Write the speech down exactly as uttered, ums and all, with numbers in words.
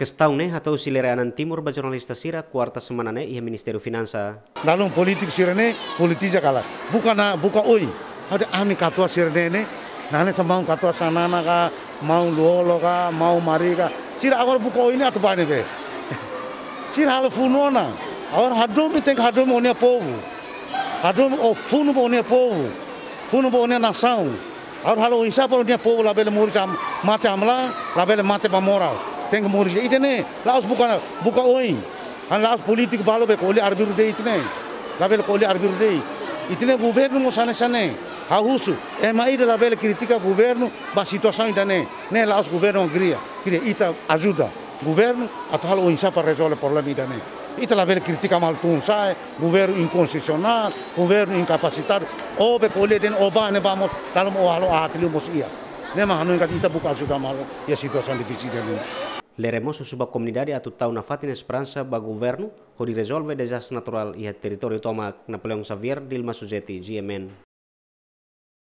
Kestaun ne'e hato'o husi Lere Anan Timur ba jornalista sira, kuarta semana ne'e iha Ministériu Finansa. Dalam politik sira ne'e politiza kala. Buka na, buka oin. Ada ami katuas sira ne'e ne'e. Nane sa maun katuas Xanana ka, maun Lú-Olo ka, maun Mari ka. Sira agora buka oin ne'e atu bá ne'ebé. Sira halo funu ona. Agora hadomi tenke hadomi ó-nia povu. Hadomi ó funu ba ó-nia povu. Funu ba ó-nia nasaun. Agora halo oinsá para ó-nia povu labele moris ham-, mate hamlaha, labele mate ba moral. Tenke moris. Ida-ne'e, la'ós buka, buka oin. Hanesan la'ós polítiku balu be ko'alia arbiru de'it ida-ne'e. Labele ko'alia arbiru de'it. Ida-ne'e governu mós hanesan ne'e. Ha'u husu, ema ida labele kritika governu ba situasaun ida-ne'e. Ne'e la'ós governu kria. Kria ita ajuda governu atu halo oinsá para rezolve problema ida-ne'e. Ita labele kritika malu tun-sa'e, governu inkonstitusionál, governu inkapasitadu. Ó be ko'alia dehan ó bá ne'ebá mós, dalam ó halo aat liu mós iha. Ne'e mak hanoin katak ita buka ajuda malu iha situasaun difisil ida-ne'e. Lere mós husu ba komunidade atu tau nafatin esperansa ba governu hodi rezolve dezastre naturál iha territóriu tomak. Napoleão Xavier, Dilma Suzeti, G M N.